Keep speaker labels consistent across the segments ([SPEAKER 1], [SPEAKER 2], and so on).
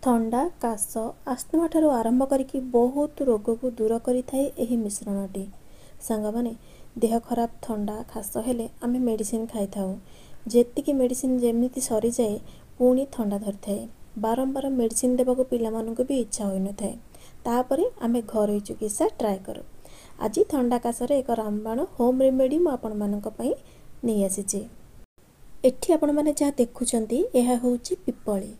[SPEAKER 1] ଥଣ୍ଡା, କାଶ, ଆସ୍ଥମା ଠାରୁ ଆରମ୍ଭ କରିକି ବହୁତ ରୋଗକୁ ଦୂର କରିଥାଏ ଏହି ମିଶ୍ରଣଟି। ସାଙ୍ଗମାନେ, ଦେହ ଖରାପ, ଥଣ୍ଡା ଖାସ ହେଲେ ଆମେ ମେଡ଼ିସିନ ଖାଇଥାଉ। ଯେତିକି ମେଡ଼ିସିନ ଯେମିତି ସରିଯାଏ, ପୁଣି ଥଣ୍ଡା ଧରିଥାଏ। ବାରମ୍ବାର ମେଡ଼ିସିନ ଦେବାକୁ ପିଲାମାନଙ୍କୁ ବି ଇଚ୍ଛା ହୋଇନଥାଏ। ତାପରେ ଆମେ ଘରୋଇ ଚିକିତ୍ସା ଟ୍ରାଏ କରୁ। ଆଜି ଥଣ୍ଡା କାଶରେ ଏକ ରାମବାଣ ହୋମ୍ ରେମେଡ଼ି ମୁଁ ଆପଣମାନଙ୍କ ପାଇଁ ନେଇ ଆସିଛି। ଏଠି ଆପଣମାନେ ଯାହା ଦେଖୁଛନ୍ତି, ଏହା ହେଉଛି ପିପଳି।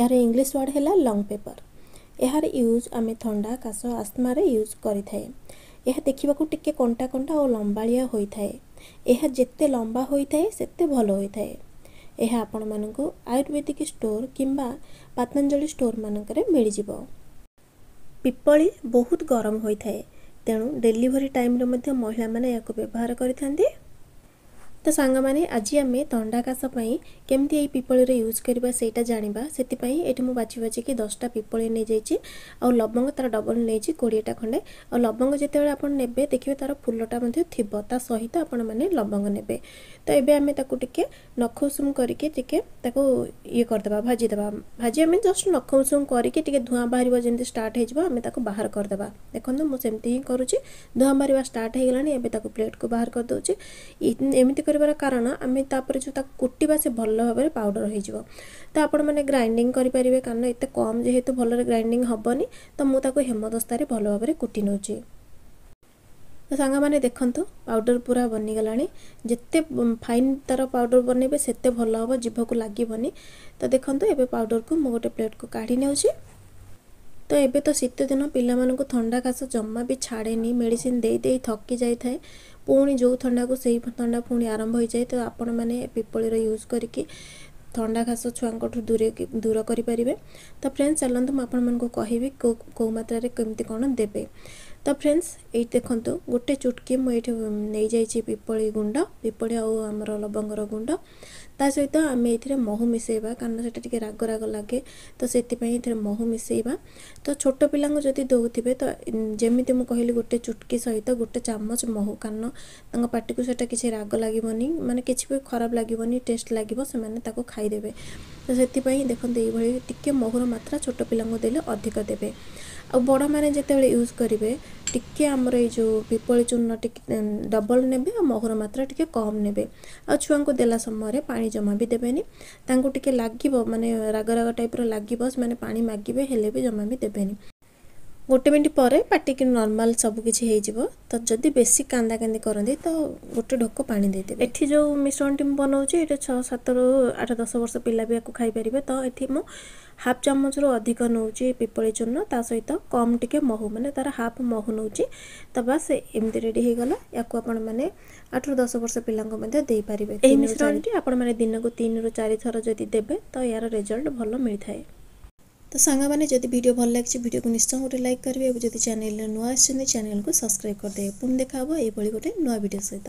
[SPEAKER 1] ଏହାର ଇଂଲିଶ ୱାର୍ଡ଼ ହେଲା ଲଙ୍ଗ ପେପର। ଏହାର ୟୁଜ୍ ଆମେ ଥଣ୍ଡା, କାଶ, ଆସ୍ମାରେ ୟୁଜ୍ କରିଥାଏ। ଏହା ଦେଖିବାକୁ ଟିକେ କଣ୍ଟା କଣ୍ଟା ଓ ଲମ୍ବାଳିଆ ହୋଇଥାଏ। ଏହା ଯେତେ ଲମ୍ବା ହୋଇଥାଏ, ସେତେ ଭଲ ହୋଇଥାଏ। ଏହା ଆପଣମାନଙ୍କୁ ଆୟୁର୍ବେଦିକ ଷ୍ଟୋର କିମ୍ବା ପତଞ୍ଜଳି ଷ୍ଟୋର ମାନଙ୍କରେ ମିଳିଯିବ। ପିପଳି ବହୁତ ଗରମ ହୋଇଥାଏ, ତେଣୁ ଡେଲିଭରି ଟାଇମ୍ରେ ମଧ୍ୟ ମହିଳାମାନେ ଏହାକୁ ବ୍ୟବହାର କରିଥାନ୍ତି। ତ ସାଙ୍ଗମାନେ, ଆଜି ଆମେ ଥଣ୍ଡା କାଶ ପାଇଁ କେମିତି ଏଇ ପିପଳିର ୟୁଜ୍ କରିବା, ସେଇଟା ଜାଣିବା। ସେଥିପାଇଁ ଏଠି ମୁଁ ବାଛି ବାଛିକି 10ଟା ପିପଳି ନେଇଯାଇଛି ଆଉ ଲବଙ୍ଗ ତା'ର ଡବଲ୍ ନେଇଛି, 20ଟା ଖଣ୍ଡେ। ଆଉ ଲବଙ୍ଗ ଯେତେବେଳେ ଆପଣ ନେବେ, ଦେଖିବେ ତା'ର ଫୁଲଟା ମଧ୍ୟ ଥିବ, ତା ସହିତ ଆପଣମାନେ ଲବଙ୍ଗ ନେବେ। ତ ଏବେ ଆମେ ତାକୁ ଟିକେ ନଖ ଉଷୁମ କରିକି ଟିକେ ତାକୁ ଇଏ କରିଦେବା, ଭାଜିଦେବା। ଭାଜି ଆମେ ଜଷ୍ଟ ନଖ ଉଷୁମ କରିକି ଟିକେ ଧୂଆଁ ବାହାରିବ ଯେମିତି ଷ୍ଟାର୍ଟ ହେଇଯିବ, ଆମେ ତାକୁ ବାହାର କରିଦେବା। ଦେଖନ୍ତୁ, ମୁଁ ସେମିତି ହିଁ କରୁଛି। ଧୂଆଁ ବାହାରିବା ଷ୍ଟାର୍ଟ ହେଇଗଲାଣି, ଏବେ ତାକୁ ପ୍ଲେଟ୍କୁ ବାହାର କରିଦେଉଛି। ଏମିତି କରିବାର କାରଣ, ଆମେ ତାପରେ ଯେଉଁ ତାକୁ କୁଟିବା, ସେ ଭଲ ଭାବରେ ପାଉଡ଼ର ହେଇଯିବ। ତ ଆପଣମାନେ ଗ୍ରାଇଣ୍ଡିଙ୍ଗ କରିପାରିବେ, କାରଣ ଏତେ କମ୍ ଯେହେତୁ ଭଲରେ ଗ୍ରାଇଣ୍ଡିଙ୍ଗ ହେବନି, ତ ମୁଁ ତାକୁ ହେମଦସ୍ତାରେ ଭଲ ଭାବରେ କୁଟି ନେଉଛି। ତ ସାଙ୍ଗମାନେ ଦେଖନ୍ତୁ, ପାଉଡ଼ର ପୁରା ବନିଗଲାଣି। ଯେତେ ଫାଇନ୍ ତା'ର ପାଉଡ଼ର ବନେଇବେ, ସେତେ ଭଲ ହେବ, ଜିଭକୁ ଲାଗିବନି। ତ ଦେଖନ୍ତୁ, ଏବେ ପାଉଡ଼ରକୁ ମୁଁ ଗୋଟେ ପ୍ଲେଟ୍କୁ କାଢ଼ି ନେଉଛି। ତ ଏବେ ତ ଶୀତ ଦିନ, ପିଲାମାନଙ୍କୁ ଥଣ୍ଡା କାଶ ଜମା ବି ଛାଡ଼େନି। ମେଡ଼ିସିନ ଦେଇ ଦେଇ ଥକି ଯାଇଥାଏ, ପୁଣି ଯେଉଁ ଥଣ୍ଡାକୁ ସେଇ ଥଣ୍ଡା ପୁଣି ଆରମ୍ଭ ହୋଇଯାଏ। ତ ଆପଣମାନେ ପିପଳିର ୟୁଜ୍ କରିକି ଥଣ୍ଡା କାଶ ଛୁଆଙ୍କଠୁ ଦୂର କରିପାରିବେ। ତ ଫ୍ରେଣ୍ଡସ୍, ଚାଲନ୍ତୁ ମୁଁ ଆପଣମାନଙ୍କୁ କହିବି କେଉଁ କେଉଁ ମାତ୍ରାରେ କେମିତି କ'ଣ ଦେବେ। ତ ଫ୍ରେଣ୍ଡସ୍, ଏଇଠି ଦେଖନ୍ତୁ, ଗୋଟେ ଚୁଟକି ମୁଁ ଏଇଠି ନେଇଯାଇଛି ପିପଳି ଗୁଣ୍ଡ, ପିପଳି ଆଉ ଆମର ଲବଙ୍ଗର ଗୁଣ୍ଡ। ତା ସହିତ ଆମେ ଏଥିରେ ମହୁ ମିଶାଇବା, କାରଣ ସେଇଟା ଟିକେ ରାଗ ରାଗ ଲାଗେ, ତ ସେଥିପାଇଁ ଏଥିରେ ମହୁ ମିଶାଇବା। ତ ଛୋଟ ପିଲାଙ୍କୁ ଯଦି ଦେଉଥିବେ, ତ ଯେମିତି ମୁଁ କହିଲି, ଗୋଟେ ଚୁଟକି ସହିତ ଗୋଟେ ଚାମଚ ମହୁ, କାରଣ ତାଙ୍କ ପାଟିକୁ ସେଇଟା କିଛି ରାଗ ଲାଗିବନି, ମାନେ କିଛି ବି ଖରାପ ଲାଗିବନି, ଟେଷ୍ଟ ଲାଗିବ, ସେମାନେ ତାକୁ ଖାଇଦେବେ। ତ ସେଥିପାଇଁ ଦେଖନ୍ତୁ, ଏଇଭଳି ଟିକେ ମହୁର ମାତ୍ରା ଛୋଟ ପିଲାଙ୍କୁ ଦେଲେ ଅଧିକ ଦେବେ। ଆଉ ବଡ଼ମାନେ ଯେତେବେଳେ ୟୁଜ୍ କରିବେ, ଟିକେ ଆମର ଏଇ ଯେଉଁ ପିପଳି ଚୂର୍ଣ୍ଣ ଟିକେ ଡବଲ୍ ନେବେ ଆଉ ମହୁର ମାତ୍ରା ଟିକେ କମ୍ ନେବେ। ଆଉ ଛୁଆଙ୍କୁ ଦେଲା ସମୟରେ ପାଣି ଜମା ବି ଦେବେନି। ତାଙ୍କୁ ଟିକେ ଲାଗିବ, ମାନେ ରାଗ ରାଗ ଟାଇପ୍ର ଲାଗିବ, ସେମାନେ ପାଣି ମାଗିବେ, ହେଲେ ବି ଜମା ବି ଦେବେନି। ଗୋଟେ ମିନିଟ୍ ପରେ ପାଟିକି ନର୍ମାଲ୍ ସବୁ କିଛି ହେଇଯିବ। ତ ଯଦି ବେଶୀ କାନ୍ଦା କାନ୍ଦି କରନ୍ତି, ତ ଗୋଟେ ଢୋକ ପାଣି ଦେଇଦେବେ। ଏଠି ଯେଉଁ ମିଶ୍ରଣଟି ମୁଁ ବନାଉଛି, ଏଇଟା 6, 7ରୁ 8, 10 ବର୍ଷ ପିଲା ବି ୟାକୁ ଖାଇପାରିବେ। ତ ଏଠି ମୁଁ ହାଫ୍ ଚାମଚରୁ ଅଧିକ ନେଉଛି ପିପଳି ଚୂର୍ଣ୍ଣ, ତା ସହିତ କମ୍ ଟିକେ ମହୁ, ମାନେ ତା'ର ହାଫ୍ ମହୁ ନେଉଛି। ତ ବାସ୍, ଏମିତି ରେଡ଼ି ହେଇଗଲା। ୟାକୁ ଆପଣମାନେ 8ରୁ 10 ବର୍ଷ ପିଲାଙ୍କୁ ମଧ୍ୟ ଦେଇପାରିବେ। ଏହି ମିଶ୍ରଣଟି ଆପଣମାନେ ଦିନକୁ 3ରୁ 4 ଥର ଯଦି ଦେବେ, ତ ଏହାର ରେଜଲ୍ଟ ଭଲ ମିଳିଥାଏ। ତ ସାଙ୍ଗମାନେ, ଯଦି ଭିଡ଼ିଓ ଭଲ ଲାଗିଛି, ଭିଡ଼ିଓକୁ ନିଶ୍ଚୟ ଗୋଟେ ଲାଇକ୍ କରିବେ ଏବଂ ଯଦି ଚ୍ୟାନେଲରେ ନୂଆ ଆସିଛନ୍ତି, ଚ୍ୟାନେଲକୁ ସବସ୍କ୍ରାଇବ୍ କରିଦେବେ। ପୁଣି ଦେଖା ହେବ ଏଇଭଳି ଗୋଟେ ନୂଆ ଭିଡ଼ିଓ ସହିତ।